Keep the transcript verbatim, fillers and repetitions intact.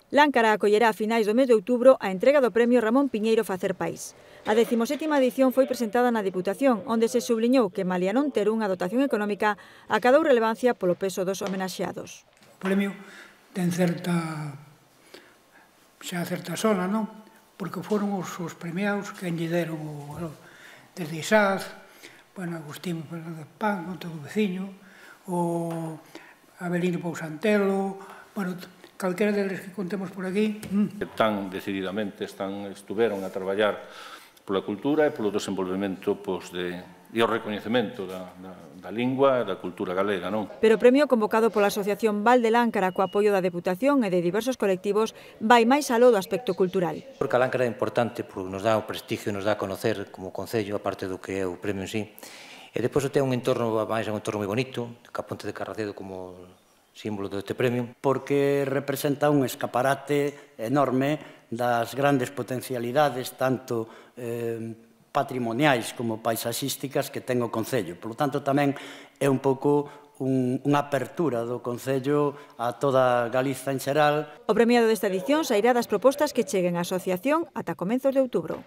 Láncara acollerá a finais do mes de outubro a entrega do premio Ramón Piñeiro Facer País. A decimosétima edición foi presentada na Deputación, onde se subliñou que, malia non ter unha dotación económica, acadou relevancia polo peso dos homenaxeados. O premio ten certa, xa certa sola, non? Porque foron os, os premiados que lle deron o, desde Isaz, bueno, Agustín Fernández Pan, Monte do Veciño, o Avelino Pousantelo, bueno, calquera deles que contemos por aquí. Tan decididamente están, estuveron a traballar pola cultura e polo desenvolvemento pois, de, e o recoñecemento da, da, da lingua e da cultura galega, non? Pero o premio convocado pola Asociación Val de Láncara co apoio da Deputación e de diversos colectivos vai máis aló do aspecto cultural. Porque a Láncara é importante, porque nos dá o prestigio, nos dá a conocer como concello, aparte do que é o premio en sí. E depois ten un entorno, máis un entorno moi bonito, ca Ponte de Carracedo como símbolo deste premio. Porque representa un escaparate enorme das grandes potencialidades, tanto eh, patrimoniais como paisaxísticas que ten o Concello. Por lo tanto, tamén é un pouco un, unha apertura do Concello a toda Galiza en xeral. O premiado desta edición sairá das propostas que cheguen á asociación ata comezos de outubro.